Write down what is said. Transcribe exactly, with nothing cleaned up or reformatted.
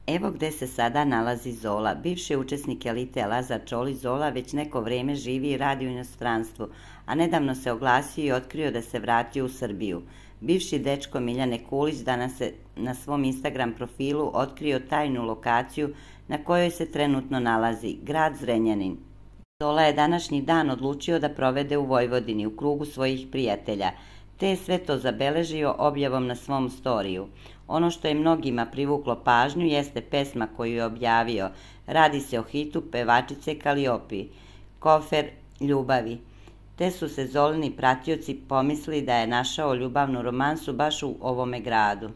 Evo gde se sada nalazi Zola. Bivši učesnik Elite Lazar Čolić Zola već neko vreme živi i radi u inostranstvu, a nedavno se oglasio i otkrio da se vratio u Srbiju. Bivši dečko Miljane Kulić danas je na svom Instagram profilu otkrio tajnu lokaciju na kojoj se trenutno nalazi, grad Zrenjanin. Zola je današnji dan odlučio da provede u Vojvodini, u krugu svojih prijatelja, te je sve to zabeležio objavom na svom storiju. Ono što je mnogima privuklo pažnju jeste pesma koju je objavio. Radi se o hitu pevačice Kaliopi, Kofer ljubavi. Te su se Zolini pratioci pomislili da je našao ljubavnu romansu baš u ovome gradu.